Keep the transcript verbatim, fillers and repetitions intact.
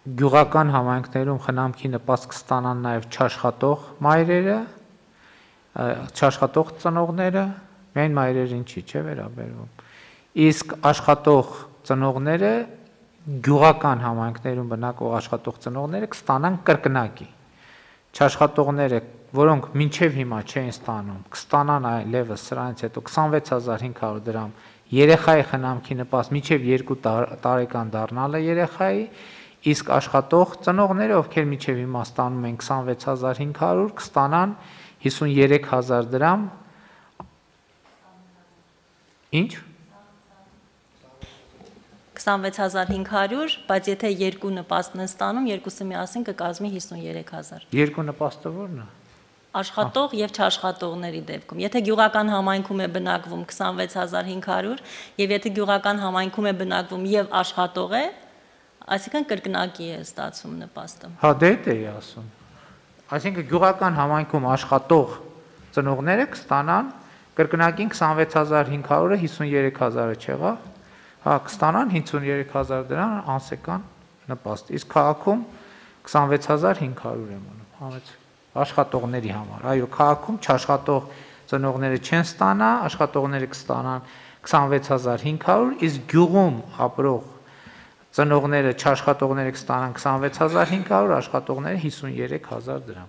գյուղական համայնքներում խնամքի նպաստ կստանան նաև չաշխատող մայրերը, չաշխատող ծնողները, միայն մայրերին չի, չէ՞ վերաբերվում։ Իսկ աշխատող ծնողները գյուղական համայնքներում բնակվող աշխատող ծնողները կստանան կրկնակի։ Չաշխատողները, որոնք մինչև հիմա չէին ստանում, կստանան այլևս սրանից հետո քսանվեց հազար հինգ հարյուր դրամ երեխայի խնամքի նպաստ մինչև երկու տարեկան դառնալը երեխայի, իսկ աշխատող ծնողները, ովքեր մինչև հիմա ստանում են քսանվեց հազար հինգ հարյուր, կստանան հիսունյուրեք հազար դրամ։ Ինչ? քսանվեց հազար հինգ հարյուր, բայց եթե երկու նպաստն են ստանում, երկուսը միասին կկազմի հիսունյուրեք հազար։ Երկու նպաստը ո՞րն է։ Աշխատող եւ չաշխատողների դեպքում։ Եթե գյուղական համայնքում է բնակվում քսանվեց հազար հինգ հարյուր, եւ եթե գյուղական համայնքում է բնակվում եւ աշխատող է, այսինքն կրկնակի է ստացում նպաստը։ Հա, դե դա էի ասում։ Այսինքն գյուղական համայնքում աշխատող ծնողները կստանան կրկնակին քսանվեց հազար հինգ հարյուրը հիսունյուրեք հազարը չեղավ։ Հա, կստանան հիսունյուրեք հազար դրամ անսեկան նպաստ։ Իսկ քաղաքում քսանվեց հազար հինգ հարյուր է մնում, համեց աշխատողների համար։ Այո, քաղաքում չաշխատող ծնողները չեն ստանա, աշխատողները կստանան քսանվեց հազար հինգ հարյուր, իսկ գյուղում ապրող ծնողները չաշխատողները կստանան քսանվեց հազար հինգ հարյուր, աշխատողները հիսունյուրեք հազար դրամ։